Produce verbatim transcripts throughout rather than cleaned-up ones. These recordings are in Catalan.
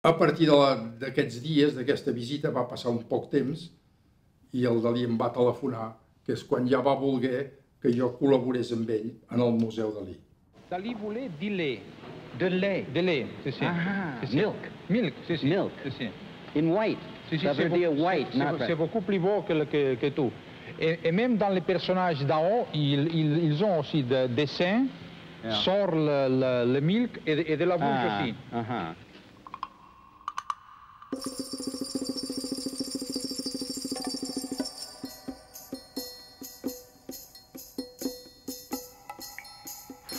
A partir d'aquests dies, d'aquesta visita, va passar un poc temps i el Dalí em va telefonar, que és quan ja va voler que jo col·laborés amb ell en el Museu Dalí. Dalí voulait du lait. De lait. De lait, c'est ça. Ah, C'est ça. milk. Milk, c'est ça. Milk. C'est ça. In white. Si, si, Ça c'est veut dire beaucoup- white, c'est- not c'est- red. C'est beaucoup plus beau que, le- que, que tout. Et, et même dans les personnages d'en haut, ils, ils, ils ont aussi des dessins Yeah. sur le, le, le milk et de, et de la bouche Ah, aussi. uh-huh.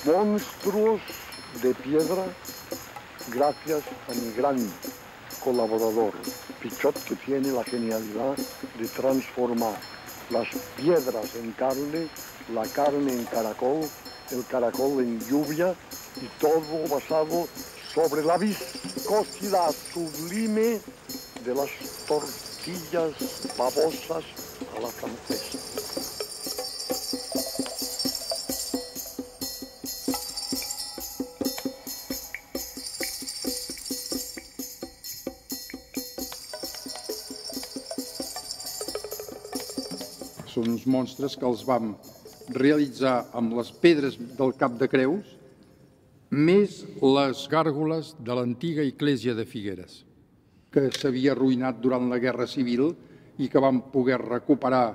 Monstruos de piedra gracias a mi gran colaborador, Pichot, que tiene la genialidad de transformar las piedras en carne, la carne en caracol, el caracol en lluvia y todo basado sobre la viscosidad sublime de las tortillas babosas a la francesa. Són uns monstres que els vam realitzar amb les pedres del Cap de Creus, més les gàrgoles de l'antiga església de Figueres, que s'havia arruïnat durant la Guerra Civil i que vam poder recuperar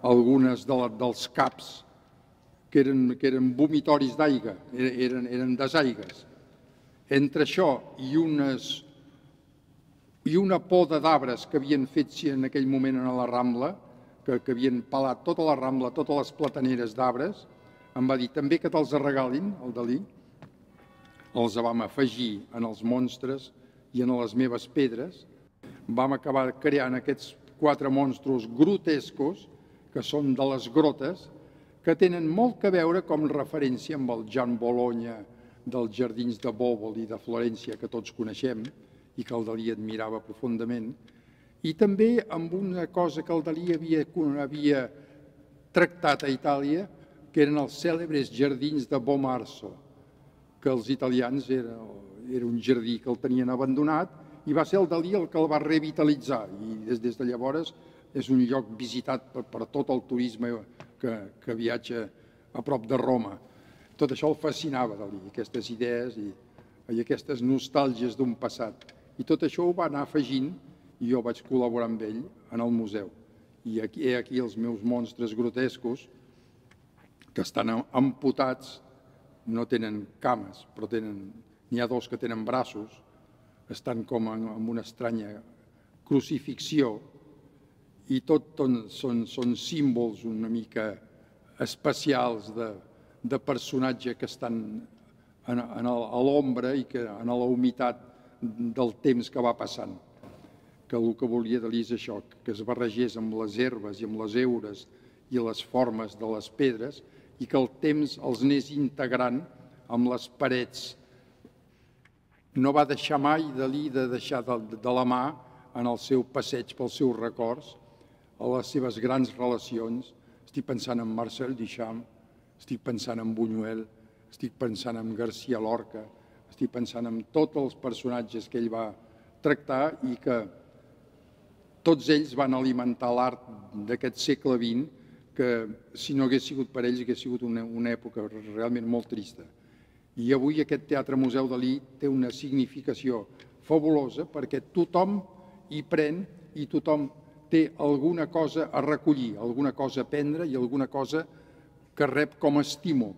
algunes de la, dels caps que eren, que eren vomitoris d'aigua, eren, eren desaigues. Entre això i, unes, i una poda d'arbres que havien fet en aquell moment a la Rambla, que, que havien pelat tota la Rambla, totes les plataneres d'arbres, em va dir també que te'ls regalin, el Dalí. Els vam afegir en els monstres i en les meves pedres. Vam acabar creant aquests quatre monstres grotescos, que són de les grotes, que tenen molt que veure com referència amb el Jan Bologna dels jardins de Bòbol i de Florència, que tots coneixem, i que el Dalí admirava profundament, i també amb una cosa que el Dalí havia, havia tractat a Itàlia, que eren els cèlebres jardins de Bomarzo, que els italians era, era un jardí que el tenien abandonat, i va ser el Dalí el que el va revitalitzar, i des, des de llavors és un lloc visitat per, per tot el turisme que, que viatja a prop de Roma. Tot això el fascinava, Dalí, aquestes idees i, i aquestes nostàlgies d'un passat. I tot això ho va anar afegint i jo vaig col·laborar amb ell en el museu. I aquí, he aquí els meus monstres grotescos, que estan amputats, no tenen cames, però n'hi ha dos que tenen braços, estan com en, en una estranya crucifixió, i tot són, són símbols una mica especials de, de personatge que estan en, en el, a l'ombra i que en la humitat del temps que va passant. Que el que volia Dalí és això, que es barregés amb les herbes i amb les heures i les formes de les pedres i que el temps els anés integrant amb les parets. No va deixar mai Dalí de deixar de, de la mà en el seu passeig pels seus records, a les seves grans relacions. Estic pensant en Marcel Duchamp, estic pensant en Buñuel, estic pensant en García Lorca, estic pensant en tots els personatges que ell va tractar i que tots ells van alimentar l'art d'aquest segle vint, que si no hagués sigut per ells hagués sigut una, una època realment molt trista. I avui aquest Teatre Museu Dalí té una significació fabulosa perquè tothom hi pren i tothom té alguna cosa a recollir, alguna cosa a aprendre i alguna cosa que rep com a estímul.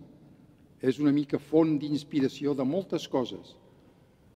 És una mica font d'inspiració de moltes coses.